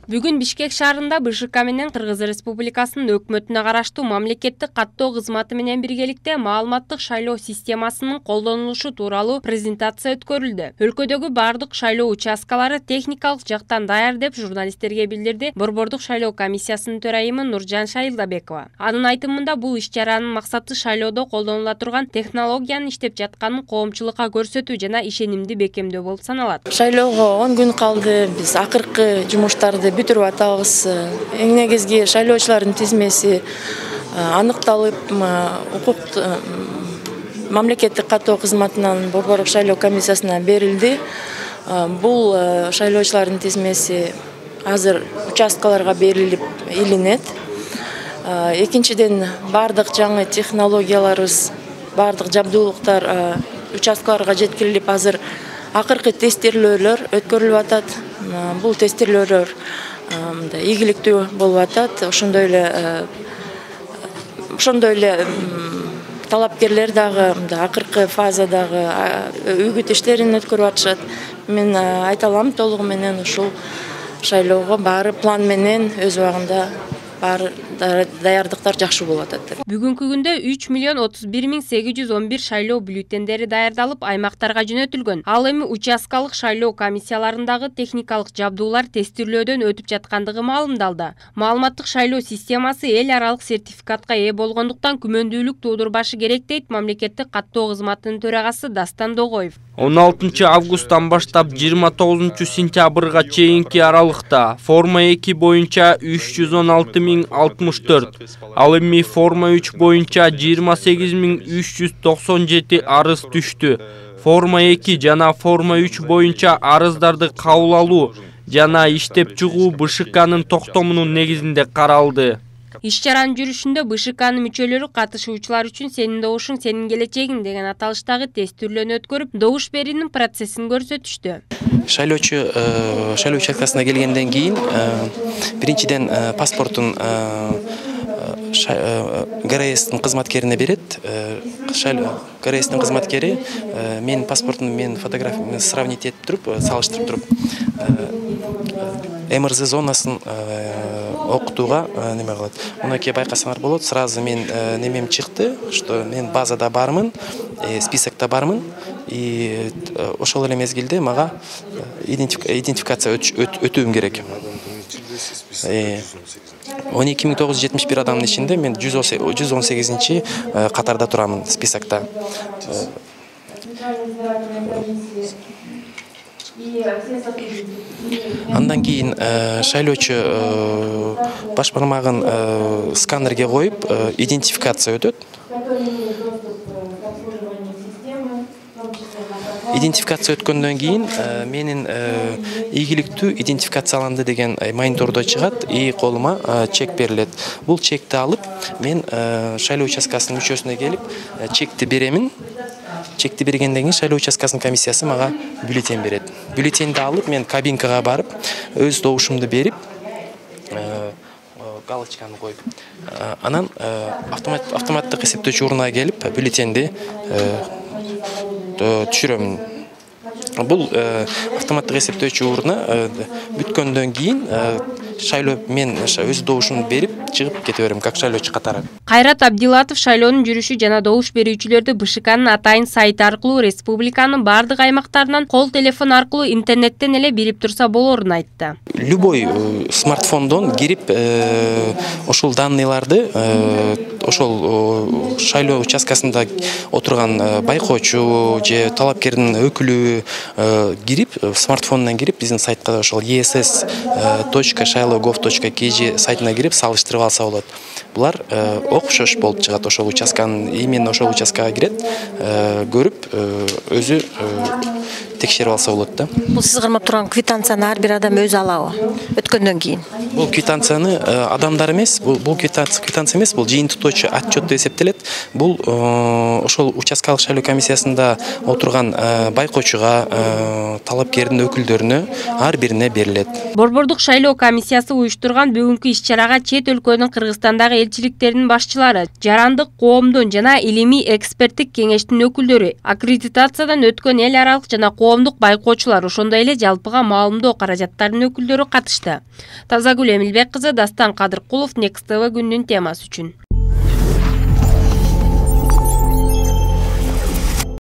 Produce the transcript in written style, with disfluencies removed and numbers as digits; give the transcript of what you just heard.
Бүгүн Бишкек шаарында БШК менен Кыргыз Республикасынын өкмөтүнө караштуу мамлекеттик каттоо кызматы менен биргеликте маалыматтык шайлоо системасынын колдонулушу тууралуу презентация өткөрүлдү. Өлкөдөгү бардык шайлоо участкалары техникалык жактан даяр деп журналисттерге билдирди Борбордук шайлоо комиссиясынын төрайымы Нуржан Шайылдабекова. Анын айтымында бул иш-чаранын максаты шайлоодо колдонула турган технологиянын иштеп жатканын коомчулукка көрсөтүү жана ишенимди бекемдөө болуп саналат. Шайлоого 10 күн калды. Биз акыркы жумуштарды бүтүрүп атабыз. Эң негизги шайлоочулардын тизмеси аныкталып, мамлекеттик каттоо кызматынан Борбордук шайлоо комиссиясына берилди. Бул шайлоочулардын тизмеси азыр участкаларга берилип илинет. Экинчиден, бардык жаңы технологияларыбыз, бардык жабдуулуктар участкаларга жеткирилип, азыр акыркы тестирлөөлөр өткөрүлүп атат. Бул тестирлөөлөр ийгиликтүү болуп атат. Ошондой эле талапкерлер дагы акыркы фазадагы үгүт иштерин өткөрүп атышат. Мен айта алам, толугу менен ушул шайлоого баары план менен өз убагында баары даярдыктар жакшы болуп атат деп. Бүгүнкү күндө 3.031.811 шайлоо бюллетендери даярдалып, аймактарга жөнөтүлгөн. Ал эми участкалык шайлоо комиссияларындагы техникалык жабдуулар тестирлөөдөн өтүп жаткандыгы маалымдалды. Маалыматтык шайлоо системасы эл аралык сертификатка ээ болгондуктан күмөндүүлүк туудурбашы керек дейт мамлекеттик каттоо кызматынын төрагасы Дастан Догоев. 16 августтан баштап 29 сентябрга чейинки аралыкта форма 2 боюнча 316.064, ал эми форма 3 боюнча 28.397 арыз түштү. Форма 2 жана форма 3 боюнча арыздарды кабыл алуу жана иштеп чыгуу БШКнын токтомунун негизинде каралды. Иш-чаранын жүрүшүндө БШКнын мүчөлөрү катышуучулар үчүн «Сенин добушуң, сенин келечегиң» деген аталыштагы тестирлөөнү өткөрүп, добуш берүүнүн процессин көрсөтүштү. Шайлоо участкасына келгенден кийин биринчиден паспортун ГРСтин кызматкерине берет. ГРСтин кызматкери менин паспортумду менин фотографиямды сравнить этип туруп, салыштырып туруп, МРЗ зонасын окутууга неме кылат. Мына ке байкасаңар болот, сразу мен немем чыкты, что мен базада бармын, списокто бармын, и ошол эле мезгилде мага идентификация өтүүм керек. 12.971 адамдын ичинде мен 118-чи катарда турамын списокто. Андан кийин шайлоочу баш бармагын сканерге коюп идентификация өтөт. Идентификация өткөндөн кийин менин ийгиликтүү идентификацияланды деген монитордо чыгат и колума чек берилет. Бул чекти алып, мен шайлоо участкасынын мүчөсүнө келип, чекти беремин. Чекти бергенден кийин шайлоо участкасынын комиссиясы мага бюллетень берет. Бюллетенди алып, мен кабинкага барып, өз добушумду берип, галочканы коюп, анан автоматтык эсептөөчү урунга келип, бюллетенди түшүрөм. Бул автоматтык эсептөөчү уруна бүткөндөн кийин шайлоо мен өз добушумду берип чыгып кете берем, как шайлоочу катары. Кайрат Абдилатов шайлоонун жүрүшү жана добуш берүүчүлөрдү БШКнын атайын сайты аркылуу республиканын бардык аймактарынан кол телефон аркылуу интернеттен эле бирип турса болорун айтты. Любой смартфондон кирип ошол данныйларды ошол шайлоо участкасында отурган байкоочу же талапкердин өкүлү кирип, смартфондон кирип, биздин сайтка ошол ess.shailogov.kg сайтына кирип салыштырып алса болот. Булар окшош болуп чыгат, ошол участканын, именно ошол участкага кирет, көрүп, өзү текшерип алса болот да. Бул сиз кармап турган квитанцияны ар бир адам өзү алабы өткөндөн кийин? Бул квитанцияны адамдар эмес, бул квитанция эмес, бул жыйынтыктоочу отчет деп эсептелет. Бул ошол участкалык шайлоо комиссиясында отурган байкоочуга, талапкердин өкүлдөрүнө ар бирине берилет. Борбордук шайлоо комиссиясы уюштурган бүгүнкү иш-чарага чет өлкөнүн Кыргызстандагы элчиликтеринин башчылары, жарандык коомдун жана илимий эксперттик кеңештин өкүлдөрү, аккредитациядан өткөн эл аралык жана коомдук байкоочулар, ошондой эле жалпыга маалымдоо каражаттарынын өкүлдөрү катышты. Тазагүл Эмилбек кызы, Дастан Кадыркулов, Next TV күндүн темасы үчүн.